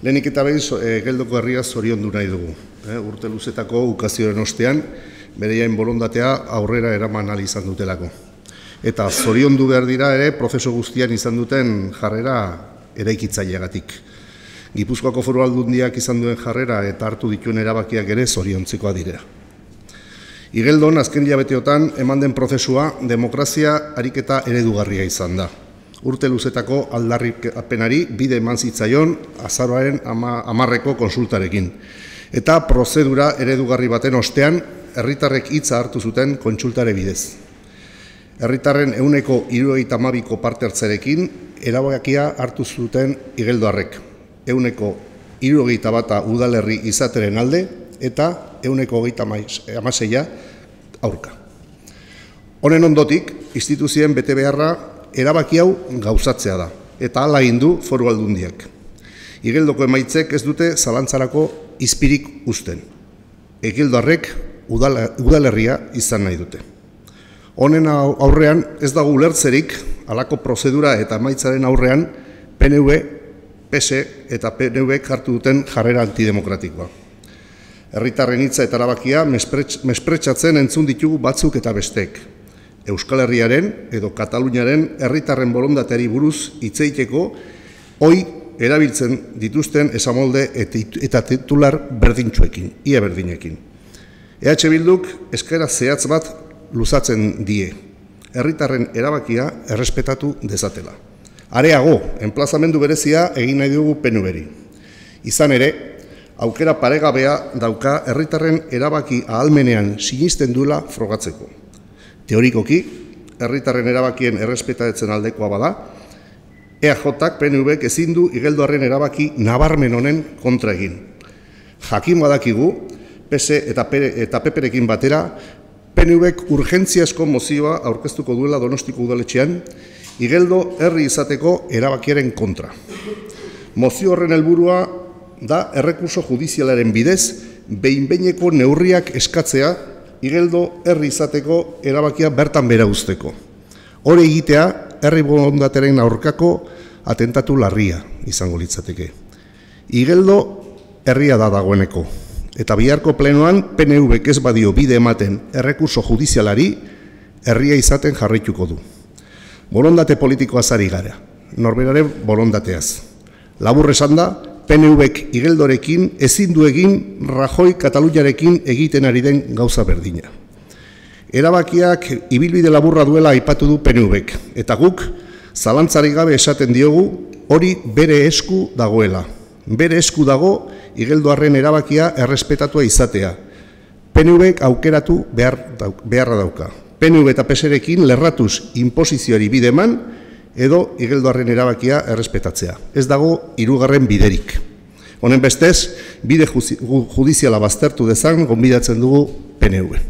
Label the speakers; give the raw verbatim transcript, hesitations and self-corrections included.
Speaker 1: Lehenik eta behin Geldoko herria zoriondu nahi dugu. Urte luzetako ukazioaren ostean, bereien borondatea aurrera eraman ahal izan dutelako. Eta zoriondu behar dira ere, prozesu guztian izan duten jarrera eraikitzaileagatik. Gipuzkoako Foru Aldundiak izan duen jarrera eta hartu dituen erabakiak ere zoriontzikoa dira. Igeldon, azken hilabeteotan, eman den prozesua demokrazia ariketa eredugarria izan da. Urte luzetako aldarrikapenari bide eman zitzaion azaroaren hamarreko konsultarekin. Eta prozedura eredugarri baten ostean, herritarrek hitza hartu zuten kontsultare bidez. Herritarren ehuneko hirurogeita hamabiko parte hartzearekin erabakia hartu zuten igeldoarrek. Ehuneko hirurogeita bata udalerri izateren alde eta ehuneko hogeita hamaseia aurka. Honen ondotik, instituzioen bete beharra erabaki hau gauzatzea da, eta hala egin du Foru Aldundiak. Igeldoko emaitzek ez dute zalantzarako izpirik uzten. Igeldoarrek udalerria izan nahi dute. Honen aurrean ez dago ulertzerik halako prozedura eta emaitzaren aurrean P N V, P S eta P N V hartu duten jarrera antidemokratikoa. Herritarren hitza eta erabakia mespretxatzen entzun ditugu batzuk eta bestek. Euskal Herriaren edo Kataluniaren herritarren borondateari buruz hitz egiteko hoi erabiltzen dituzten esamolde eta titular berdintsuekin, ia berdinekin. E H Bilduk eskaera zehatz bat luzatzen die, herritarren erabakia errespetatu dezatela. Areago, enplazamendu berezia egin nahi dugu P N V-ri. Izan ere, aukera paregabea dauka herritarren erabaki ahalmenean sinisten duela frogatzeko. Teorikoki, herritarren erabakien errespetatzen aldekoa bada, E A Jk P N Vk ezin du igeldoarren erabaki nabarmen honen kontra egin. Jakin badakigu, P S eta P P-rekin batera, P N Vk urgentziazko mozioa aurkeztuko duela Donostiko udaletxean, igeldo herri izateko erabakiaren kontra. Mozio horren helburua da errekurso judizialaren bidez, behin-behineko neurriak eskatzea igeldo herri izateko erabakia bertan bera uzteko. Hori egitea, herri borondatearen aurkako atentatu larria izango litzateke. Igeldo herria da dagoeneko, eta biharko plenoan P N Vk ez badio bide ematen errekurso judizialari herria izaten jarraituko du. Borondate politikoaz ari gara, norberaren borondateaz. Labur esan da, P N Vk igeldorekin ezin du egin Rajoy Kataluniarekin egiten ari den gauza berdina. Erabakiak ibilbide laburra duela aipatu du P N Vk, eta guk zalantzarik gabe esaten diogu hori bere esku dagoela. Bere esku dago igeldoarren erabakia errespetatua izatea. P N Vk aukeratu beharra dauka. P N V eta P S-rekin lerratuz inposizioari bide eman, edo igeldoarren erabakia errespetatzea. Ez dago hirugarren biderik. Honen bestez, bide judiziala baztertu dezan gonbidatzen dugu P N V.